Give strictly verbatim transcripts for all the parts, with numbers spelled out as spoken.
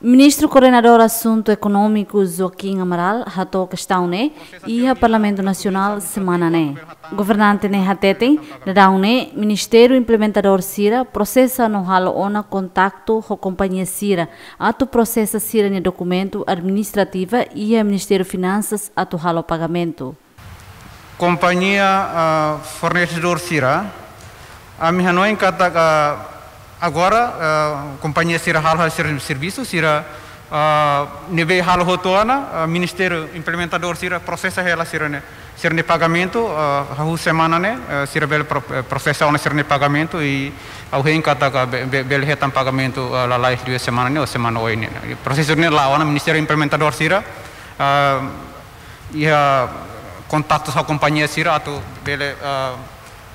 Ministru Koordenadór Asuntu Ekonómiku Joaquim Amaral hato'o kestaun ne'e iha Parlamentu Nasionál semana ne'e. Governante ne'e hateten, daudaun ne'e ministériu implementadór sira prosesa no halo ona kontaktu ho kompañia sira atu prosesa sira-nia dokumentu administrativa iha Ministériu Finansas atu halo pagamentu. Kompañia, ah, fornesedór sira, ami hanoin katak agora, ah, kompañia sira halo sira servisu sira, ah, ne'ebé halo hotu ona, ah, ministériu implementadór sira prosesa hela sira-ne'e, sira-nia pagamentu, ah, hahú semana ne'e, ah, sira bele pro-, eh, prosesa ona sira-nia pagamentu i ha'u hein katak be-, be-, bele hetan pagamentu, ah, lalais duas semana ne'e ou semana oin ne'e. Prosesu ne'e la'o ona ministériu implementadór sira, ah, iha kontaktu ho kompañia sira atu bele, ah,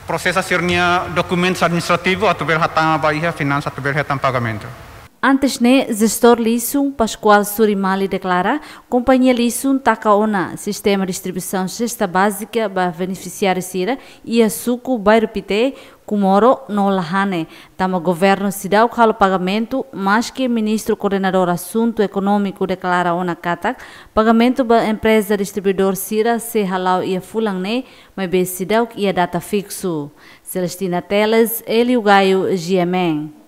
prosesa sira-nia dokumentus administrativu atu bele hatama ba iha Finansas atu bele hetan pagamentu. Antes ne'e, jestór liaison Pascoal Surimali deklara, kompañia liaison taka ona sistema distribuisaun sesta bázika ba benefisiáriu sira iha suku Bairru Pité, Comoro no Lahane, tanba governu seidauk halo pagamentu, maske Ministru Koordenadór Asuntu Ekonómiku deklara ona katak pagamentu ba empreza distribuidór sira sei hala'o iha fulan ne'e, maibé seidauk iha data fiksu. Celestina Teles, Hélio Gaio, G M N.